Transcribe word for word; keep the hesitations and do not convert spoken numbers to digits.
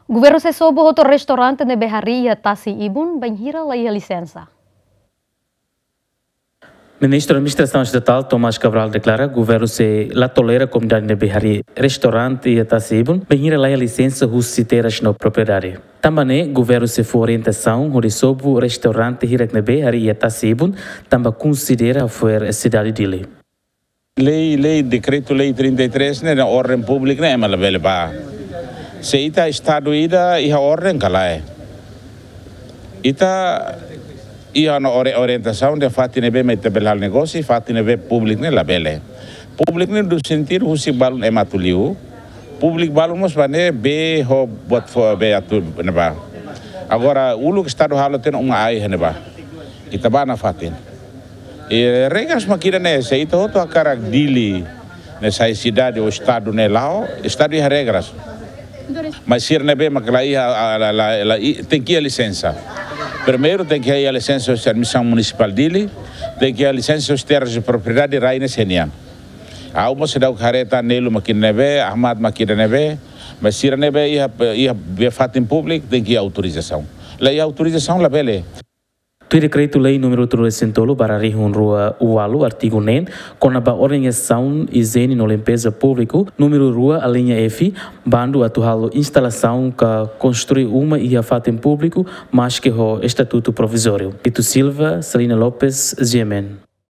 Governu sei sobu hotu restaurante ne'ebé harii iha tasi ibun, bainhira la iha lisensa. Ministru Administrasaun Estatál Tomás Cabral deklara governu sei la tolera komunidade ne'ebé harii restaurante iha tasi ibun, bainhira la iha lisensa husi terras no propriedade. Tanba ne'e, governu sei fó orientasaun hodi sobu restaurante hirak ne'ebé harii iha tasi ibun, tanba konsidera hafo'er sidade Dili. Lei, lei, dekretu-lei trinta e três ne'e, na orden públika ne'e ema labele bá. Se ita estadu ida iha orden ka lae. Ita iha ona ori-, orientasaun dehan fatin ne'ebé mak ita bele halo negósiu, fatin ne'ebé públiku ne'e labele. Públiku ne'e iha sentidu husik balun ema atu liu. Públiku balun mós bá ne'ebé ho buat fó be atu ne'ebá. Agora, uluk estadu halo tiha ona uma ai ne'ebá. Ita bá nafatin. I regras mak ida-ne'e, se ita hotu hakarak Dili ne'e sai sidade ou estadu ne'e la'o, estadu iha regras. Mas sira ne'ebé mak la iha, la, la, la, i-, tenke iha lisensa. Primeiru tenke iha lisensa husi Administrasaun Munisipál Dili, tenke iha lisensa husi terras de propriedade rai ne'e sira-nian. Ha'u mós seidauk haree tan Nelu mak ida-ne'ebé, Ahmad mak ida-ne'ebé, mas sira ne'ebé iha, iha be fatin públiku tenke iha autorizasaun. La iha autorizasaun labele. Tuir dekretu-lei númeru tolunulu-resin-tolu barra rihun rua ualu, artigu neen, kona-ba organizasaun, ijiene no limpeza públiku, númeru rua, alínea F, bandu atu halo instalasaun ka konstrui uma iha fatin públiku, maske ho estatutu provizóriu. Tito Silva, Celina Lopes, G M N.